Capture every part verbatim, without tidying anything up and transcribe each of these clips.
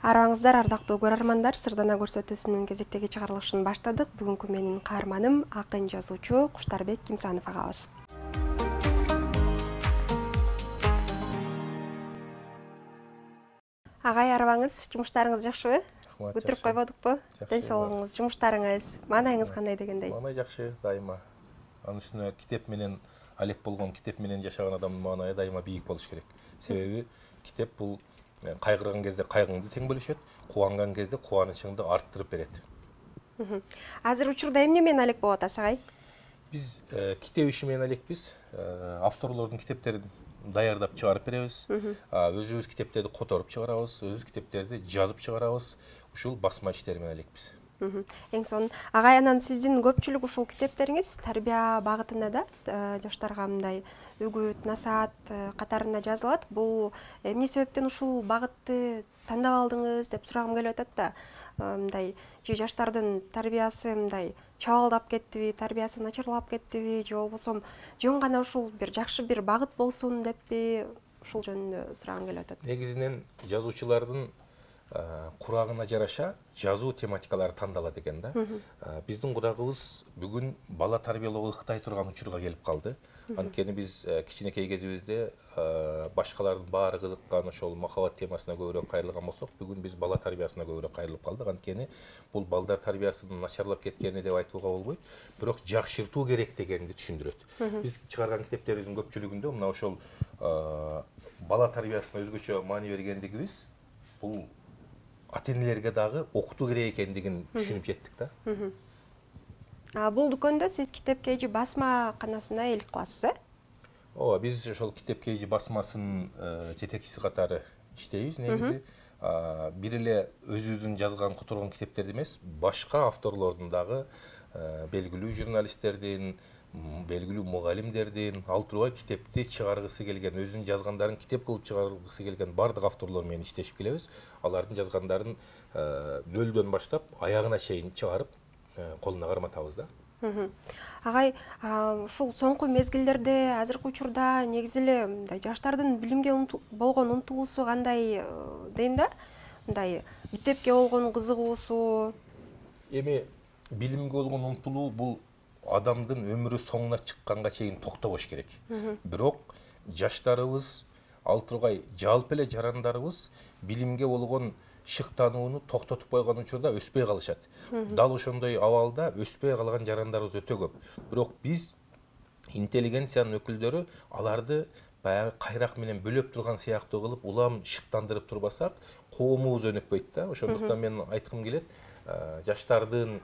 Арабаңыздар, ардактуу көрөрмандар, Сырдана көрсөтүүсүнүн кезектеги чыгарылышын баштадык. Бүгүнкү менин каарманым акын жазуучу Куштарбек Кимсанов агабыз. Агай, арабаңыз, жумуштарыңыз жакшыбы? Бүтүрүп койбодукпу? Ден соолугуңуз, жумуштарыңыз, маанайыңыз кандай дегендей? Маанай жакшы, дайыма. Анын үстүнө китеп менен алек болгон, китеп менен жашаган адамдын маанайы дайыма бийик болуш керек. Себеби китеп бул кайгырган кезде кайгыңды тең бөлүшөт, кубанган кезде кубанычыңды арттырып берет. Азыр учурда эмне менен алек болуп атасыз, агай? Биз китеп иши менен элекпиз. Авторлордун китептерин даярдап чыгарып беребиз. Өзүбүз китептерди которуп чыгарабыз, өзүбүз китептерди жазып чыгарабыз. Ушул басма иштери менен элекпиз. Эң сонун. Агай, анан сиздин көпчүлүк ушул китептериңиз тарбия багытында да, жаштарга мындай үгүт, насаат катарында жазылат. Бул эмне себептен ушул багытты тандап алдыңыз деп сурагым келип атат да. Мындай же жаштардын тарбиясы мындай чабалдап кеттиби, тарбиясы начарлап кеттиби, же болбосо жөн гана ушул бир жакшы бир багыт болсун деппи? Ушул жөнүндө сурагым келип атат. Негизинен жазуучулардын курагына жараша жазуу тематикалары тандалат экен да. Биздин курагыбыз бүгүн бала тарбиялоого ыктай турган учурга келип калды. Анткени биз кичинекей кезибизде башкалардын баары кызыккан ошол махабат темасына көбүрөөк кайрылган болсок, бүгүн биз бала тарбиясына көбүрөөк кайрылып калдык. Анткени бул балдар тарбиясынын начарлап кеткени деп айтууга болбойт, бирок жакшыртуу керек дегенди түшүндүрөт. Биз чыгарган китептерибиздин көпчүлүгүндө мына ошол бала тарбиясына өзгөчө маани бергендигибиз бул ата-энелерге дагы окутуу керек экендигин түшүнүп жеттик да. Бул дүкөндө сиз Китеп Кейжи басма канасына ээлик кыласыз, э? Ооба, биз ошол Китеп Кейжи басмасынын жетекчиси катары иштейбиз. Негизи бир эле өзүбүздүн жазган которгон китептерди эмес, башка авторлордун дагы белгилүү журналисттердин, белгилүү мугалимдердин ал турбай китепти чыгаргысы келген, өзүнүн жазгандарын китеп кылып чыгаргысы келген бардык авторлор менен иштешип келебиз. Алардын жазгандарын нөлдөн баштап аягына чейин чыгарып колуна карматабыз да. Агай, ушул соңку мезгилдерде азыркы учурда негизи эле мындай жаштардын билимге болгон умтулуусу кандай дейм да? Мындай мектепке болгон кызыгуусу. Эми билимге болгон умтулуу бул адамдын өмүрү соңуна чыкканга чейин токтобош керек. Бирок жаштарыбыз, ал тургай жалпы эле жарандарыбыз билимге болгон шыктанууну токтотуп койгон учурда өспөй калышат. Дал ошондой абалда өспөй калган жарандарыбыз өтө көп. Бирок биз интеллигенциянын өкүлдөрү аларды баягы кайрак менен бөлөп турган сыяктуу кылып улам шыктандырып турбасак, коомубуз өнөкпөйт да. Ошондуктан мен айткым келет, жаштардын,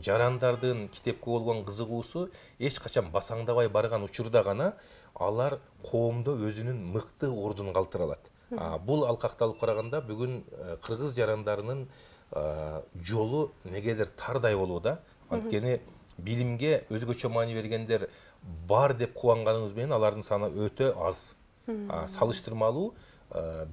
жарандардын китепке болгон кызыгуусу эч качан басаңдабай барган учурда гана алар коомдо өзүнүн мыкты ордун калтыра алат. Бул алкакталып караганда бүгүн кыргыз жарандарынын жолу негедир тардай болууда. Анткени билимге өзгөчө маани бергендер бар деп кубанганыбыз менен алардын саны өтө аз. Салыштырмалуу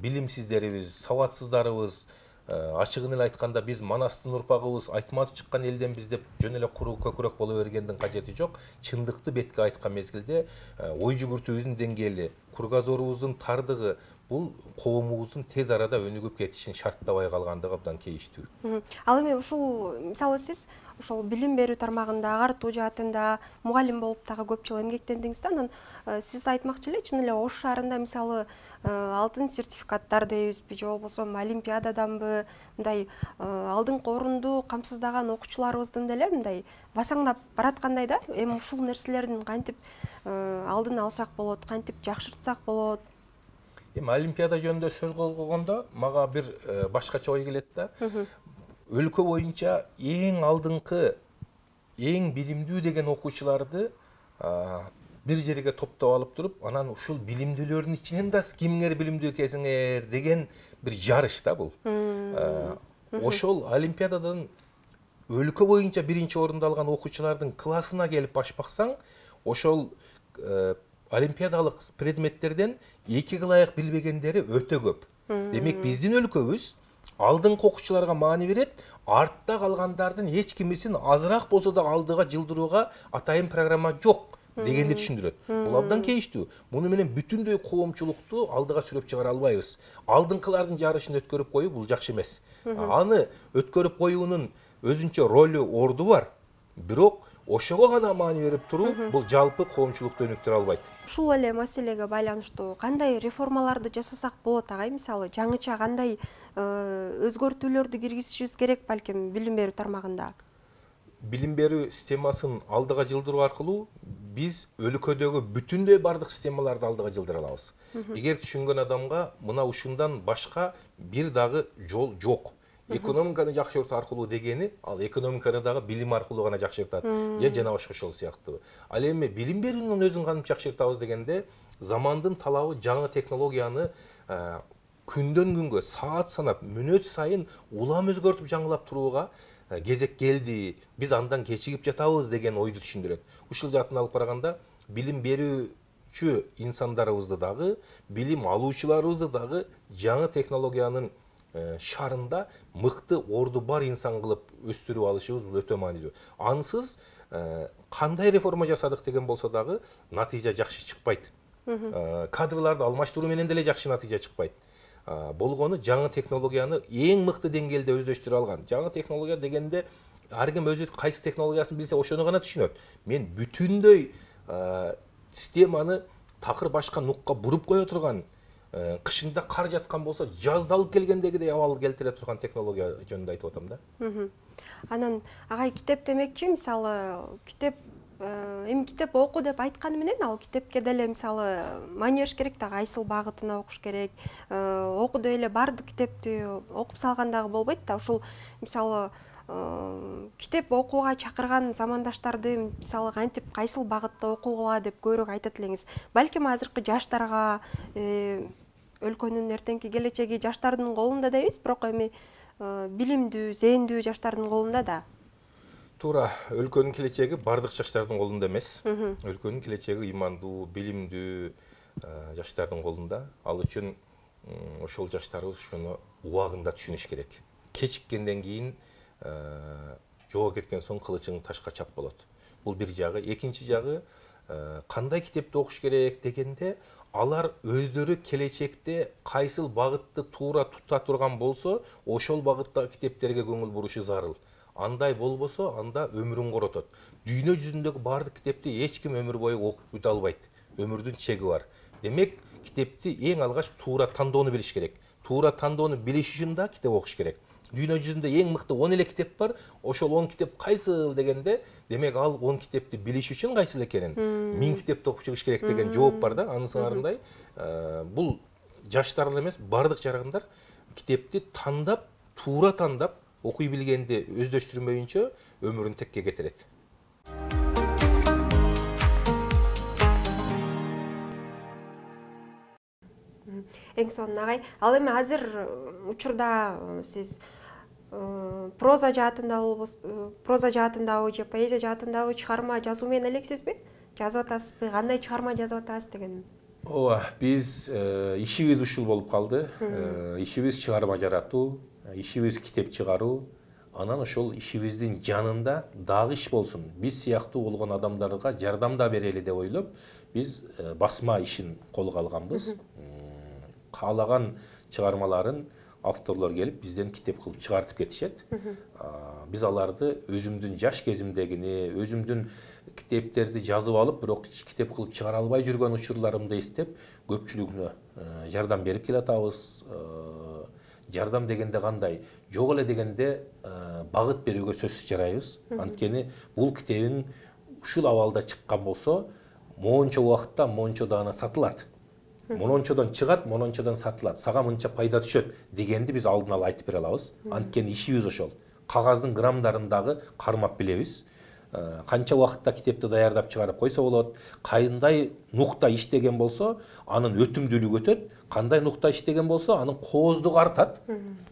билимсиздерибиз, сабатсыздарыбыз, ачыгын эле айтканда биз Манастын урпагыбыз, айтматов чыккан элденбиз деп жөн эле куру көкүрөк боло бергендин кажети жок. Чындыкты бетке айткан мезгилде ой жүгүртүүбүздүн деңгээли, кургазорубуздун тардыгы бул коомубуздун тез арада өнүгүп кетишин шарттабай калгандыгы абдан кейиштүү. Ал эми ушул мисалы сиз ошол билим берүү тармагында, агартуу жаатында мугалим болуп дагы көп жыл эмгектендиңиз да. Анан сиз айтмакчы эле чын эле Ош шаарында мисалы алтын сертификаттар дейбизби, же болбосо олимпиададанбы мындай алдыңкы орунду камсыздаган окуучуларыбыздын деле мындай басаңдап бараткандай да. Эми ушул нерселердин кантип алдын алсак болот, кантип жакшыртсак болот? Эми олимпиада жөнүндө сөз козгогондо мага бир башкача ой келет да. Өлкө боюнча эң алдыңкы, эң билимдүү деген окуучуларды бир жерге топтоп алып туруп, анан ушул билимдүүлөрдүн ичинен да кимиңер билимдүү экенсиңер деген бир жарыш да бул. Ошол олимпиададан өлкө боюнча биринчи орунду алган окуучулардын классына келип баш баксаң, ошол олимпиадалык предметтерден эки ылайык билбегендери өтө көп. Демек биздин өлкөбүз алдыңкы окуучуларга маани берет, артта калгандардын эч кимисин азыраак болсо да алдыга жылдырууга атайын программа жок. дегенди түшүндүрөт. Бул абдан кейиштүү. Муну менен бүтүндөй коомчулукту алдыга сүрөп чыгара албайбыз. Алдыңкылардын жарышын өткөрүп коюу бул жакшы эмес. Аны өткөрүп коюунун өзүнчө ролу, орду бар. Бирок ошого гана маани берип туруу бул жалпы коомчулукту өнүктүрө албайт. Ушул эле маселеге байланыштуу кандай реформаларды жасасак болот агай? Мисалы, жаңыча кандай өзгөртүүлөрдү киргизишибиз керек балким билим берүү тармагында? Билим берүү системасын алдыга жылдыруу аркылуу биз өлкөдөгү бүтүндөй бардык системаларды алдыга жылдыра алабыз. Эгер түшүнгөн адамга мына ушундан башка бир дагы жол жок. Экономиканы жакшыртуу аркылуу дегени, ал экономиканы дагы билим аркылуу гана жакшыртат. Же жана ошол сыяктуу. Ал эми билим берүүнүн өзүн кантип жакшыртабыз дегенде, замандын талабы жаңы технологияны күндөн күнгө, саат санап, мүнөт сайын улам өзгөртүп жаңылап турууга кезек келди. Биз андан кечигип жатабыз деген ойду түшүндүрөт. Ушул жааттан алып караганда, билим берүүчү инсандарыбызды дагы, билим алуучуларыбызды дагы жаңы технологиянын шарында мыкты орду бар инсан кылып өстүрүп алышыбыз бул өтө маанилүү. Ансыз кандай реформа жасадык деген болсо дагы натыйжа жакшы чыкпайт. Кадрларды алмаштыруу менен деле жакшы натыйжа чыкпайт. Болгону жаңы технологияны эң мыкты деңгээлде өздөштүрө алган. Жаңы технология дегенде ар ким өзү кайсы технологиясын билсе ошону гана түшүнөт. Мен бүтүндөй системаны такыр башка нукка буруп кое турган, кышында кар жаткан болсо жазды алып келгендегидей абал келтире турган технология жөнүндө айтып атам да. Анан агай китеп демекчи, мисалы, китеп эми китеп оку деп айтканы менен ал китепке деле мисалы маани бериш керек да, кайсыл багытына окуш керек. Окуду эле бардык китепти окуп салган дагы болбойт да. Ушул мисалы китеп окууга чакырган замандаштарды мисалы кантип кайсыл багытта окугула деп көбүрөөк айтат элеңиз. Балким азыркы жаштарга, өлкөнүн эртеңки келечеги жаштардын колунда да эмес, бирок эми билимдүү, зээндүү жаштардын колунда да. Туура, өлкөнүн келечеги бардык жаштардын колунда эмес. Өлкөнүн келечеги ыймандуу, билимдүү жаштардын колунда. Ал үчүн ошол жаштарыбыз ошону убагында түшүнүш керек. Кечиккенден кийин жоо кеткен соң кылычың ташка чап болот. Бул бир жагы. Экинчи жагы, кандай китепти окуш керек дегенде, алар өздөрү келечекте кайсыл багытты туура тута турган болсо, ошол багыттагы китептерге көңүл бурушу зарыл. Андай болбосо, анда өмүрүн коротот. Дүйнө жүзүндөгү бардык китепти эч ким өмүр бою окуп бүтө албайт. Өмүрдүн чеги бар. Демек, китепти эң алгач туура тандоону билиш керек. Туура тандоону билиш үчүн да китеп окуш керек. Дүйнө жүзүндө эң мыкты он эле китеп бар. Ошол он китеп кайсыл дегенде, демек ал он китепти билиш үчүн кайсыл экенин, миң китепти окуп чыгыш керек деген жооп бар да. Анын сыңарындай, бул жаштар эле эмес, бардык жарандар китепти тандап, туура тандап, окуй билгенди өздөштүрмөйүнчө өмүрүн текке кетирет. Эң сонун агай, ал эми азыр учурда сиз проза жаатындабы, проза жаатындабы же поэзия жаатындабы чыгарма жазуу менен элексизби? Жазып атасызбы? Кандай чыгарма жазып атасыз деген? Ооба, биз ишибиз ушул болуп калды. Ишибиз чыгарма жаратуу, ишибиз китеп чыгаруу. Анан ошол ишибиздин жанында дагы иш болсун. Биз сыяктуу болгон адамдарга жардам да берели деп ойлоп, биз басма ишин колго алганбыз. Каалаган чыгармаларын авторлор келип бизден китеп кылып чыгартып кетишет. Биз аларды өзүмдүн жаш кезимдегини, өзүмдүн китептерди жазып алып, бирок китеп кылып чыгара албай жүргөн учурларымды эстеп, көпчүлүгүнө жардам берип келатабыз. Жардам дегенде кандай? Жок эле дегенде багыт берүүгө сөзсүз жарайбыз. Анткени бул китебиң ушул абалда чыккан болсо, моунча убакытта моунча даана сатылат. Монончодон чыгат, монончодон сатылат. Сага мынча пайда түшөт дегенди биз алдын ала айтып бере алабыз. Анткени ишибиз ошол. Кагаздын граммдарын дагы кармап билебиз. Канча убакытта китепти даярдап чыгарып койсо болот, кандай нукта иштеген болсо, анын өтүмдүүлүгү өтөт, кандай нукта иштеген болсо, анын кооздугу артат.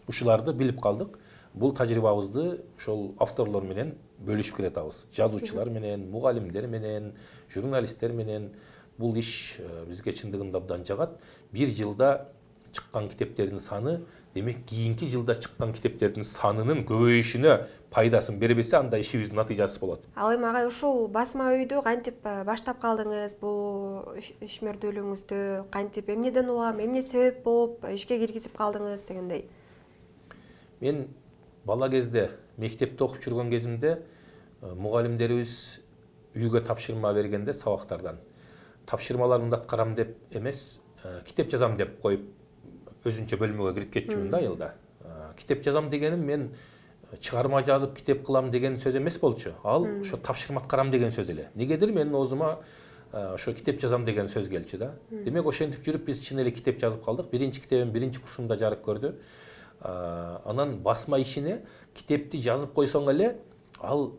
Ушуларды билип калдык. Бул тажрыйбабызды ошол авторлор менен бөлүшүп келатабыз. Жазуучулар менен, мугалимдер менен, журналисттер менен. Бул иш бизге чындыгында абдан жагат. Бир жылда чыккан китептердин саны, демек кийинки жылда чыккан китептердин санынын көбөйүшүнө пайдасын бербесе, анда ишибиздин натыйжасы болот. Ал эми агай ушул басма үйдү кантип баштап калдыңыз? Бул ишмердүүлүгүңүздү кантип, эмнеден улам, эмне себеп болуп ишке киргизип калдыңыз дегендей? Мен бала кезде мектепте окуп жүргөн кезимде мугалимдерибиз үйгө тапшырма бергенде сабактардан тапшырмаларымды аткарам деп эмес, китеп жазам деп коюп өзүнчө бөлмөгө кирип кетчүмүн да айылда. Китеп жазам дегеним мен чыгарма жазып китеп кылам деген сөз эмес болчу. Ал ошо тапшырма аткарам деген сөз эле. Негедир менин оозума ошо китеп жазам деген сөз келчү да. Демек ошентип жүрүп биз чын эле китеп жазып калдык. Биринчи китебим биринчи курсумда жарык көрдү. Анан басма ишине китепти жазып койсоң эле ал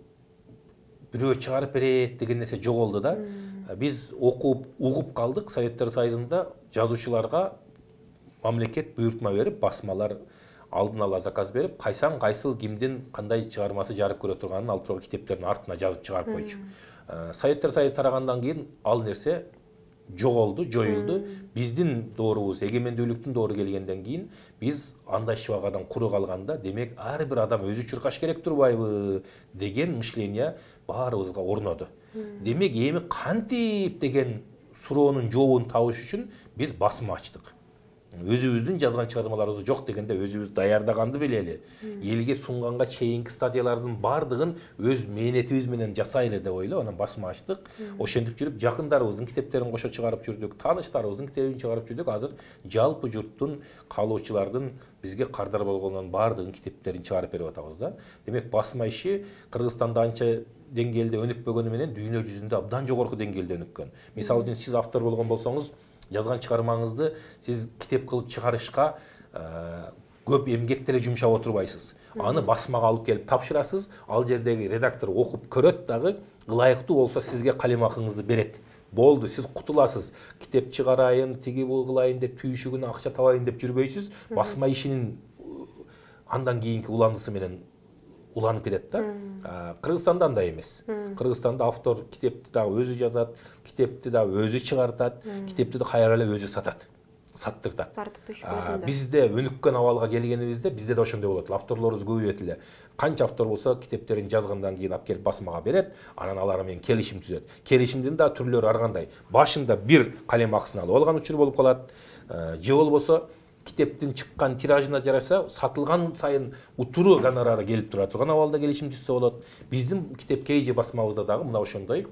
бирөө чыгарып берет деген нерсе жоголду да. Биз окуп, угуп калдык. Советтер Союзунда жазуучуларга мамлекет буйртма берип, басмалар алдын ала заказ берип, кайсаң кайсыл кимдин кандай чыгармасы жарык көрө турганын алып туруп китептердин артына жазып чыгарып койчу. Советтер Союзу тарагандан кийин ал нерсе жоголду, жоюлду. Биздин доорубуз, эгемендүүлүктүн доору келгенден кийин биз андай шыбагадан куру калганда, демек ар бир адам өзү чуркаш керек турбайбы деген мышление баарыбызга орноду. Демек эми кантип деген суроонун жообун табыш үчүн биз басма ачтык. Өзүбүздүн жазган чыгармаларыбыз жок дегенде өзүбүз даярдаганды билели. Элге сунганга чейинки стадиялардын бардыгын өз мээнетибиз менен жасайлы деп ойлоп, анан басма ачтык. Ошентип жүрүп жакындарыбыздын китептерин кошо чыгарып жүрдүк, тааныштарыбыздын китебин чыгарып жүрдүк. Азыр жалпы журттун, каалоочулардын бизге кардар болгондун бардыгынын китептерин чыгарып берип атабыз да. Демек басма иши Кыргызстанда анча деңгээлде өнүкпөгөнү менен дүйнө жүзүндө абдан жогорку деңгээлде өнүккөн. Мисалы үчүн сиз автор болгон болсоңуз, жазган чыгармаңызды сиз китеп кылып чыгарышка көп эмгек деле жумшап отурбайсыз. Аны басмага алып келип тапшырасыз, ал жердеги редактор окуп көрөт дагы, ылайыктуу болсо сизге калем акыңызды берет. Болду, сиз кутуласыз. Китеп чыгарайын, тиги бул кылайын деп түйшүгүнө акча табайын деп жүрбөйсүз. Басма ишинин андан кийинки уландысы менен уланып кетет да. Кыргызстанда андай эмес. Кыргызстанда автор китепти дагы өзү жазат, китепти дагы өзү чыгартат, китепти да кайра эле өзү сатат, саттыртат. Бизде өнүккөн абалга келгенибизде бизде да ошондой болот. Авторлорубуз көбөйөт эле. Канча автор болсо китептерин жазгандан кийин алып келип басмага берет, анан алар менен келишим түзөт. Келишимдин да түрлөрү ар кандай. Башында бир калем акысын алып алган учур болуп калат, же болбосо китептин чыккан тиражына жараса сатылган сайын утуру гонорары келип тура турган абалда келишим түзсө болот. Биздин китеп кей же басмабызда дагы мына ошондой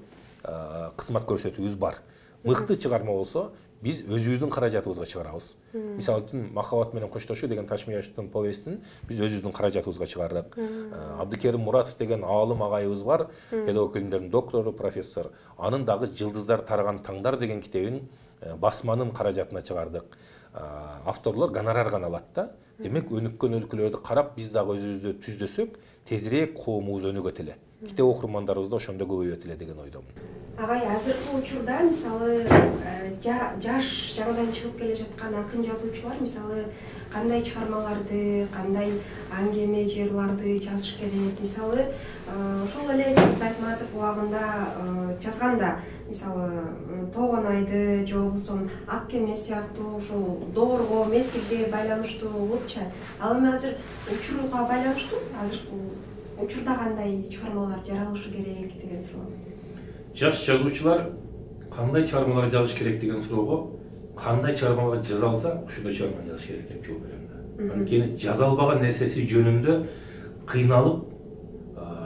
кызмат көрсөтүүбүз бар. Мыкты чыгарма болсо биз өзүбүздүн каражатыбызга чыгарабыз. Мисалы үчүн Махаббат менен коштошуу деген Ташмияштын повестин биз өзүбүздүн каражатыбызга чыгардык. Абдыкерим Муратов деген аалым агайыбыз бар, педагог илимдердин доктору, профессор. Анын дагы Жылдыздар тараган таңдар деген китебин басманын каражатына чыгардык. Авторлор гонорар гана алат да. Демек өнүккөн өлкөлөрдү карап биз дагы өзүбүздү түздөсөк, тезирээк коомубуз өнүгөт эле. Китеп окурмандарыбыз да ошондо көбөйөт эле деген ойдомун. Агай, азыркы учурда мисалы жаш жаңыдан чыгып келе жаткан акын жазуучулар мисалы кандай чыгармаларды, кандай аңгеме жырларды жазыш керек? Мисалы ошол эле Айтматов убагында жазганда, мисалы Тогон айды же болбосо Ак кеме сыяктуу ушул доорго, мезгилге байланыштуу болупчу. Ал эми азыр учурга байланыштуу, азыркы учурда кандай чыгармалар жаралышы керек деген суроо. Жаш жазуучулар кандай чыгармалар жазыш керек деген суроого кандай чыгармалар жаза алса, ошондой чыгарма жазыш керек деп жооп берем да. Анткени жаза албаган нерсеси жөнүндө кыйналып,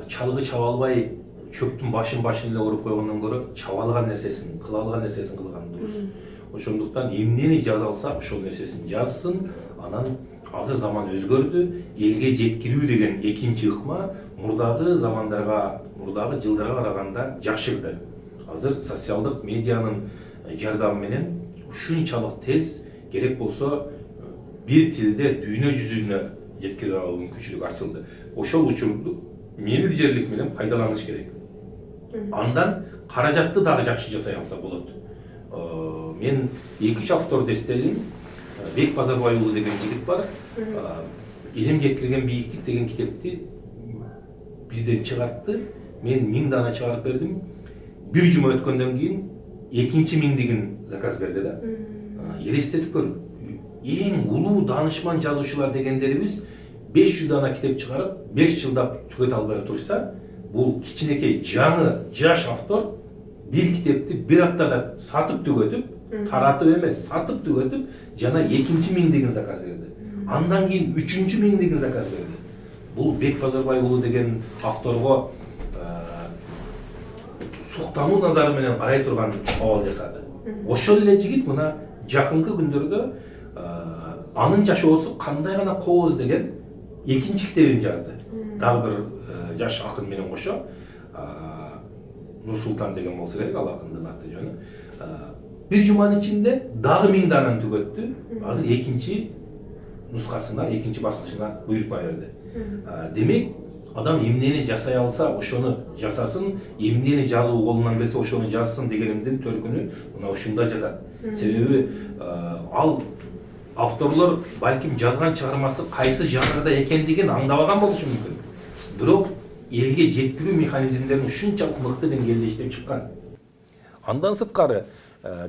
чалгы чаба албай чөптүн башын башын эле уруп койгондон көрө чаба алган нерсесин, кыла алган нерсесин кылган дурус. Ошондуктан эмнени жаза алса, ошол нерсесин жазсын. Анан азыр заман өзгөрдү, элге жеткирүү деген экинчи ыкма мурдагы замандарга, мурдагы жылдарга караганда жакшырды. Азыр социалдык медианын жардамы менен ушунчалык тез керек болсо бир тилде дүйнө жүзүнө жеткире алуу мүмкүнчүлүк ачылды. Ошол учурду менеджерлик менен пайдаланыш керек. Андан каражатты дагы жакшы жасай алса болот. Мен эки үч автор дестелим, Бек Базарбай уулу деген жигит бар. Элим жеткирген бийиктик деген китепти бизден чыгартты. Мен миң дана чыгарып бердим. Бир жума өткөндөн кийин экинчи миңдигин заказ берди да. Элестетип көр. эң улуу даанышман жазуучулар дегендерибиз беш жүз дана китеп чыгарып беш жылда түгөтө албай отурса, бул кичинекей жаңы жаш автор бир китепти бир аптада сатып түгөтүп, таратып эмес, сатып түгөтүп, жана экинчи миңдигин заказ берди. Андан кийин үчүнчү миңдигин заказ берди. Бул Бек Базарбай уулу деген авторго суктануу назары менен карай турган абал жасады. Ошол эле жигит мына жакынкы күндөрдө анын жашоосу кандай гана кооз деген экинчи китебин жазды. Дагы бир жаш акын менен кошо, Нурсултан деген болсо керек, ал акындын аты жөнү. Бир жуманын ичинде дагы миң дананы түгөттү. Азыр экинчи нускасына, экинчи баскычына буйрутма берди. Демек, адам эмнени жасай алса, ошону жасасын, эмнени жазуу колунан келсе, ошону жазсын дегенимдин төркүнү мына ушунда жатат. Себеби ал авторлор балким жазган чыгармасы кайсы жанрда экендигин аңдабаган болушу мүмкүн. Бирок элге жеткирүү механизмдерин ушунчалык мыкты деңгээлде иштеп чыккан. Андан сырткары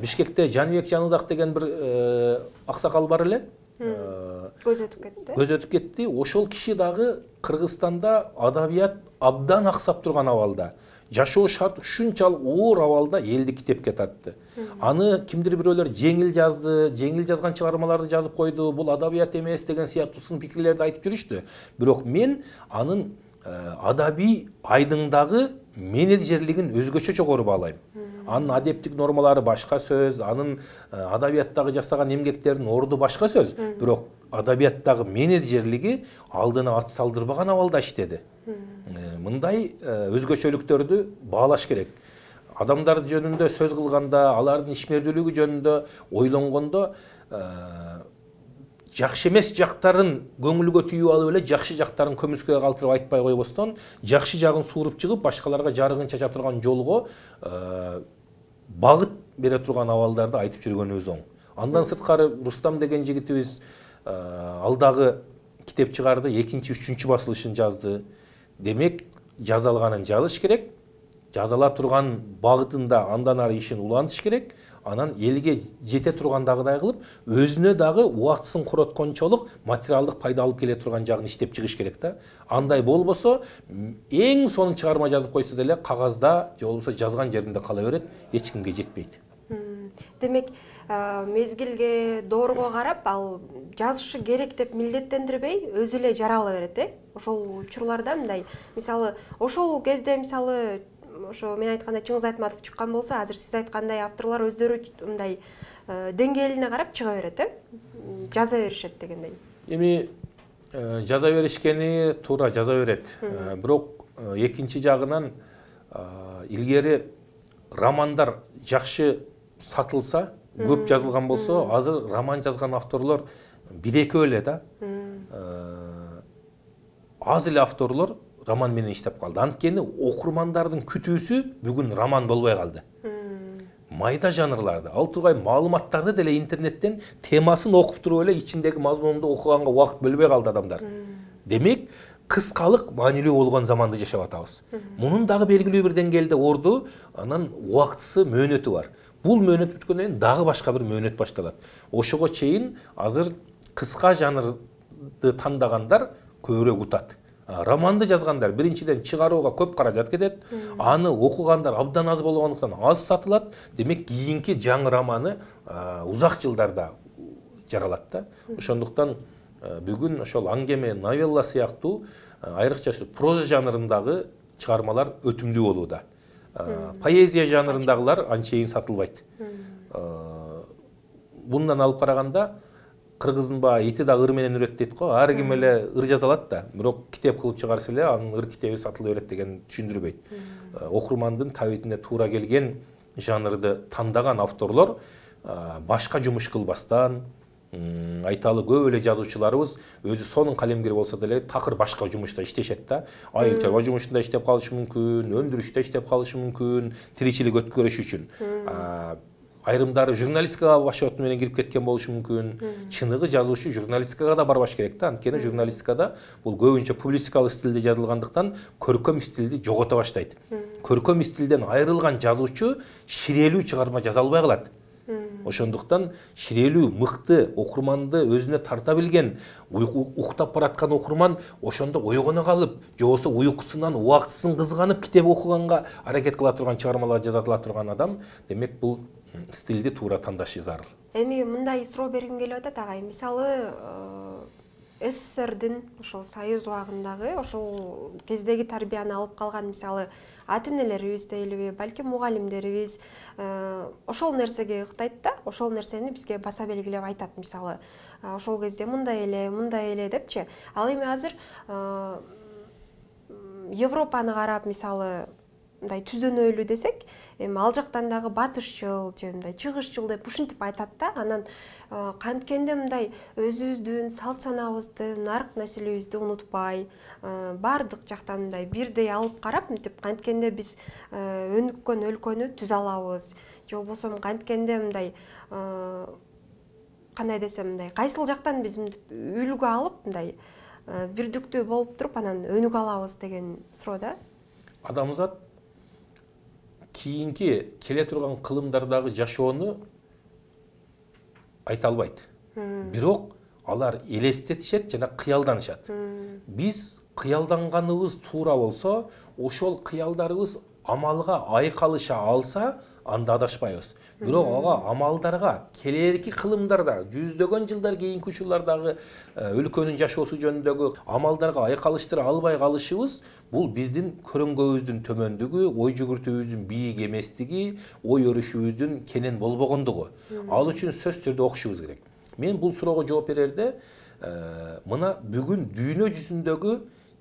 Бишкекте Жаныбек Жанызак деген бир аксакал бар эле. Көз өтүп кетти. Көз өтүп кетти. Ошол киши дагы Кыргызстанда адабият абдан аксап турган абалда, жашоо шарт ушунчалык оор абалда элди китепке тартты. Аны кимдир бирөөлөр жеңил жазды, жеңил жазган чыгармаларды жазып койду, бул адабият эмес деген сыяктуу сын пикирлерди айтып жүрүштү. Бирок мен анын адабий айдыңдагы менеджерлигин өзгөчө жогору баалайм. Анын адептик нормалары башка сөз, анын адабияттагы жасаган эмгектеринин орду башка сөз. Бирок адабияттагы менеджерлиги алдына ат салдырбаган абалда иштеди. Мындай өзгөчөлүктөрдү баалаш керек. Адамдар жөнүндө сөз кылганда, алардын ишмердүүлүгү жөнүндө ойлонгондо жакшы эмес жактарын көңүлгө түйүп алып эле жакшы жактарын көмүскөгө калтырып айтпай койбостон, жакшы жагын сууруп чыгып, башкаларга жарыгын чача турган жолго багыт бере турган абалдарды айтып жүргөнүбүз оң. Андан сырткары Рустам деген жигитибиз алдагы китеп чыгарды, экинчи, үчүнчү басылышын жазды. Демек, жазалганын жазыш керек, жазала турган багытында андан ары ишин улантыш керек. Анан элге жете тургандагыдай кылып, өзүнө дагы убактысын короткончолук материалдык пайда алып келе турган жагын иштеп чыгыш керек да. Андай болбосо, эң сонун чыгарма жазып койсо деле кагазда же болбосо жазган жеринде кала берет, эч кимге жетпейт. Демек, мезгилге, доорго карап, ал жазышы керек деп милдеттендирбей, өзү эле жарала берет, э? Ошол учурларда мындай, мисалы, ошол кезде мисалы ошо мен айткандай Чыңгыз Айтматов чыккан болсо, азыр сиз айткандай авторлор өздөрү мындай деңгээлине карап чыга берет, э? Жаза беришет дегендей. Эми жаза беришкени туура жаза берет. Бирок экинчи жагынан илгери романдар жакшы сатылса, көп жазылган болсо, азыр роман жазган авторлор бир-экөө эле да. Аз эле авторлор роман менен иштеп калды. Анткени окурмандардын күтүүсү бүгүн роман болбой калды. Майда жанрларды, ал тургай маалыматтарды деле интернеттен темасын окуп туруп эле ичиндеги мазмунду окуганга убакыт бөлбөй калды адамдар. Демек, кыскалык маанилүү болгон заманды жашап атабыз. Мунун дагы белгилүү бир деңгээлде орду, анын убактысы, мөөнөтү бар. Бул мөөнөт бүткөндөн кийин дагы башка бир мөөнөт башталат. Ошого чейин азыр кыска жанрды тандагандар көбүрөөк утат. Романды жазгандар биринчиден чыгарууга көп каражат кетет, аны окугандар абдан аз болгондуктан аз сатылат. Демек, кийинки жаңы романы узак жылдарда жаралат да. Ошондуктан бүгүн ошол аңгеме, новелла сыяктуу айрыкча проза жанрындагы чыгармалар өтүмдүү болууда. Поэзия жанрындагылар анчейин сатылбайт. Bundan алып караганда кыргыздын баа ити да ыр менен үрөт дейт го. Ар ким эле ыр жаза алат да, бирок китеп кылып чыгарса эле анын ыр китеби сатыла берет деген түшүндүрбөйт. Окурмандын табитине туура келген жанрды тандаган авторлор башка жумуш кылбастан, айталы көп эле жазуучуларыбыз өзү сонун калемгер болсо деле такыр башка жумушта иштешет да. Айыл чарба жумушунда иштеп калышы мүмкүн, өндүрүштө иштеп калышы мүмкүн, тиричилик өткөрүш үчүн. Айрымдары журналистикага башооту менен кирип кеткен болушу мүмкүн. Чыныгы жазуучу журналистикага да барбаш керек да. Анткени журналистикада бул көбүнчө публицистикалык стилде жазылгандыктан көркөм стилди жогото баштайт. Көркөм стилден айрылган жазуучу ширелүү чыгарма жаза албай калат. Ошондуктан ширелүү мыкты окурманды өзүнө тарта билген, уктап бараткан окурман ошондо ойгоно калып, же болбосо уйкусунан убактысын кызганып китеп окуганга аракет кыла турган, чыгармалар жаза турган адам, демек бул стилди туура тандашы зарыл. Эми мындай суроо бергим келип атат агай. Мисалы, СССРдин ошол Союз убагындагы ошол кездеги тарбияны алып калган, мисалы, ата-энелерибиз дейлиби, балким мугалимдерибиз ошол нерсеге ыктайт да, ошол нерсени бизге баса белгилеп айтат, мисалы, ошол кезде мындай эле, мындай эле депчи. Ал эми азыр Европаны карап, мисалы, мындай түздөнөлүү десек, эми ал жактан дагы батышчыл же мындай чыгышчыл деп ушинтип айтат да. Анан канткенде мындай өзүбүздүн салт санабызды, нарк нерселерибизди унутпай, бардык жактан мындай бирдей алып карап, мынтип канткенде биз өнүккөн өлкөнү түзө алабыз. Же болбосо канткенде мындай кандай десем, мындай кайсыл жактан биз мынтип үлгү алып, мындай бирдиктүү болуп туруп анан өнүгө алабыз деген суроо да. Адамзат кийинки келе турган кылымдардагы жашоону айта албайт. Бирок алар элестетишет жана кыялданышат. Биз кыялданганыбыз туура болсо, ошол кыялдарыбыз амалга айкалыша алса, анда адашпайбыз. Бирок ага амалдарга келерки кылымдарда, жүздөгөн жылдар кийинки учурлардагы өлкөнүн жашоосу жөнүндөгү амалдарга айкалыштыра албай калышыбыз, бул биздин көрөңгөбүздүн төмөндүгү, ой жүгүртүүбүздүн бийик эместиги, ой өрүшүбүздүн кенен болбогондугу. Ал үчүн сөзсүз түрдө окушубуз керек. Мен бул суроого жооп берерде, мына бүгүн дүйнө жүзүндөгү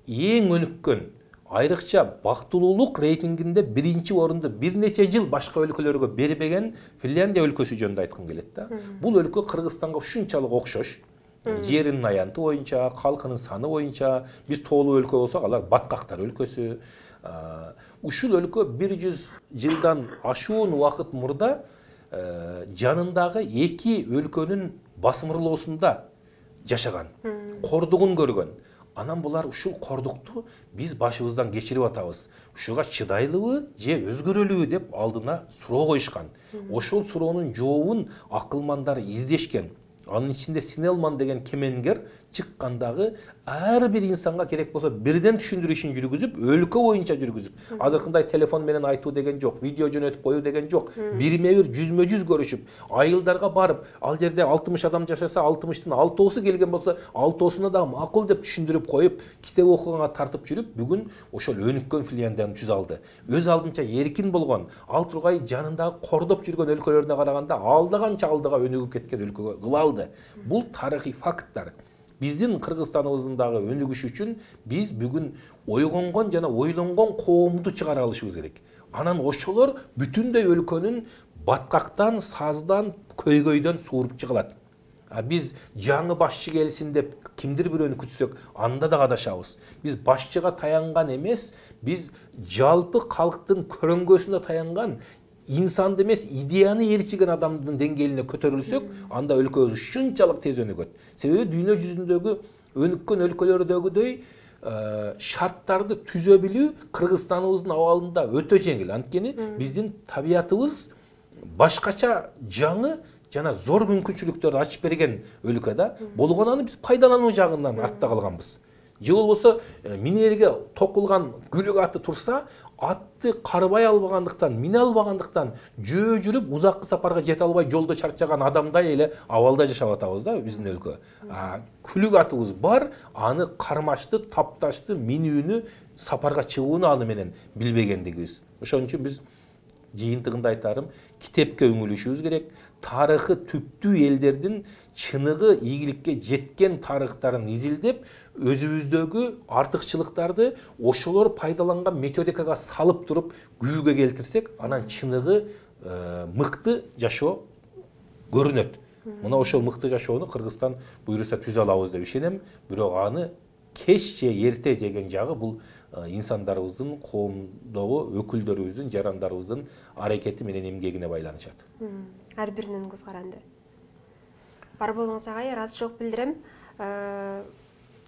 эң өнүккөн, айрыкча бактылуулук рейтингинде биринчи орунду бир нече жыл башка өлкөлөргө бербеген Финляндия өлкөсү жөнүндө айткым келет да. Бул өлкө Кыргызстанга ушунчалык окшош. Жеринин аянты боюнча, калкынын саны боюнча, биз тоолуу өлкө болсок, алар баткактар өлкөсү. Ушул өлкө бир жүз жылдан ашуун убакыт мурда жанындагы эки өлкөнүн басымырлоосунда жашаган, кордугун көргөн. Анан булар ушул кордукту биз башыбыздан кечирип атабыз. Ушуга чыдайлыбы же өзгөрөлүбү деп алдына суроо коюшкан. Ошол суроонун жообун акылмандар издешкен. Анын ичинде Снеллман деген кемеңгер чыккандагы ар бир инсанга керек болсо бирден түшүндүрүү ишин жүргүзүп, өлкө боюнча жүргүзүп, азыркындай телефон менен айтуу деген жок, видео жөнөтүп коюу деген жок. Бирме бир жүзмө жүз көрүшүп, айылдарга барып, ал жерде алтымыш адам жашаса, алтымыштын алтоосу келген болсо, алтоосуна да макул деп түшүндүрүп коюп, китеп окуганга тартып жүрүп, бүгүн ошол өнүккөн Финляндияны түзө алды. Өз алдынча эркин болгон, ал тургай жанындагы кордоп жүргөн өлкөлөрүнө караганда алда канча алдыга өнүгүп кеткен өлкөгө кыла алды. Бул тарыхый факттар. Биздин Кыргызстаныбыздын дагы өнүгүшү үчүн биз бүгүн ойгонгон жана ойлонгон коомду чыгара алышыбыз керек. Анан ошолор бүтүндөй өлкөнүн баткактан, саздан, көйгөйдөн сууруп чыгылат. А биз жаңы башчы келсин деп кимдир бирөөнү күтсөк, анда да адашабыз. Биз башчыга таянган эмес, биз жалпы калктын көрөңгөсүнө таянган, инсанды эмес, идеяны ээрчиген адамдын деңгээлине көтөрүлсөк, анда өлкөбүз ушунчалык тез өнүгөт. Себеби дүйнө жүзүндөгү өнүккөн өлкөлөрдөгүдөй шарттарды түзө билүү Кыргызстаныбыздын абалында өтө жеңил. Анткени биздин табиятыбыз башкача, жаңы жана зор мүмкүнчүлүктөрдү ачып берген өлкө да. Болгон аны биз пайдалануу жагынан артта калганбыз. Же болбосо минерге токулган күлүк аты турса, атты карбай албагандыктан, мине албагандыктан жөө жүрүп узаккы сапарга жете албай жолдо чарчаган адамдай эле абалда жашап атабыз да биздин өлкө. Күлүк атыбыз бар, аны кармашты, тапташты, минүүнү, сапарга чыгууну аны менен билбегендигибиз. Ошон үчүн биз жыйынтыгында айтарым, китепке үңүлүшүбүз керек. Тарыхы түптүү элдердин чыныгы ийгиликке жеткен тарыхтарын изилдеп, өзүбүздөгү артыкчылыктарды ошолор пайдаланган методикага салып туруп күзгө келтирсек, анан чыныгы мыкты жашоо көрүнөт. Мына ошол мыкты жашоону Кыргызстан буйруса түзө алабыз деп ишенем. Бирок аны кеч же эрте жеген жагы бул инсандарыбыздын, коомдогу өкүлдөрүбүздүн, жарандарыбыздын аракети менен эмгегине байланышат. Ар биринин көз каранды. Бар болуңуз агай, ыраазычылык билдирем.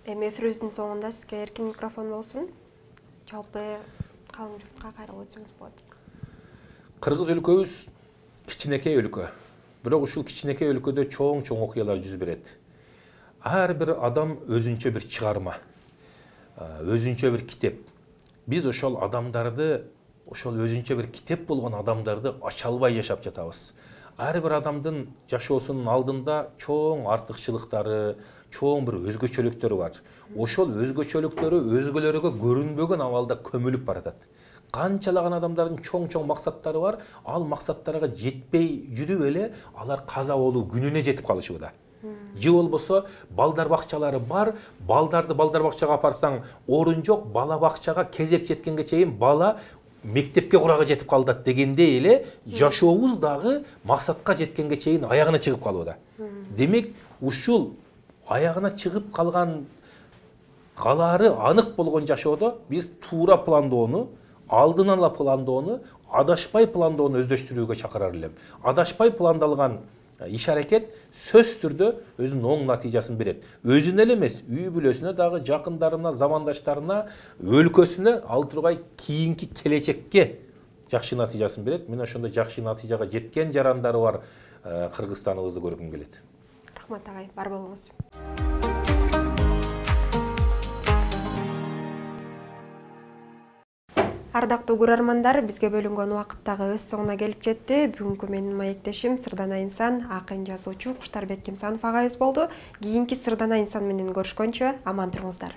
Эми эфирибиздин соңунда сизге эркин микрофон болсун. Жалпы калың журтка кайрылып өтсөңүз болот. Кыргыз өлкөбүз кичинекей өлкө. бирок ушул кичинекей өлкөдө чоң чоң окуялар жүз берет. Ар бир адам өзүнчө бир чыгарма, өзүнчө бир китеп. Биз ошол адамдарды, ошол өзүнчө бир китеп болгон адамдарды ача албай жашап жатабыз. Ар бир адамдын жашоосунун алдында чоң артыкчылыктары, чоң бир өзгөчөлүктөрү бар. Ошол өзгөчөлүктөрү өзгөлөргө көрүнбөгөн абалда көмүлүп баратат. Канчалаган адамдардын чоң-чоң максаттары бар, ал максаттарга жетпей жүрүп эле алар каза болуу күнүнө жетип калышууда. Же болбосо балдар бакчалары бар, балдарды балдар бакчага апарсаң орун жок, бала бакчага кезек жеткенге чейин бала мектепке курага жетип калдат дегендей эле жашообуз дагы максатка жеткенге чейин аягына чыгып калууда. Демек, ушул аягына чыгып калган калаары анык болгон жашоодо биз туура пландоону, алдын ала пландоону, адашпай пландоону өздөштүрүүгө чакырар элем. Адашпай пландалган иш аракет сөзсүз түрдө өзүнүн оң натыйжасын берет. Өзүнө эле эмес, үй бүлөсүнө дагы, жакындарына, замандаштарына, өлкөсүнө, ал тургай кийинки келечекке жакшы натыйжасын берет. Мен ошондой жакшы натыйжага жеткен жарандары бар Кыргызстаныбызды көргүм келет. Рахмат агай, бар болуңуз. Ардактуу көрөрмандар, бизге бөлүнгөн убакыт дагы өз соңуна келип жетти. Бүгүнкү менин маектешим Сырдана инсан, акын жазуучу Куштарбек Кимсанов агайыбыз болду. Кийинки Сырдана инсан менен көрүшкөнчө аман туруңуздар.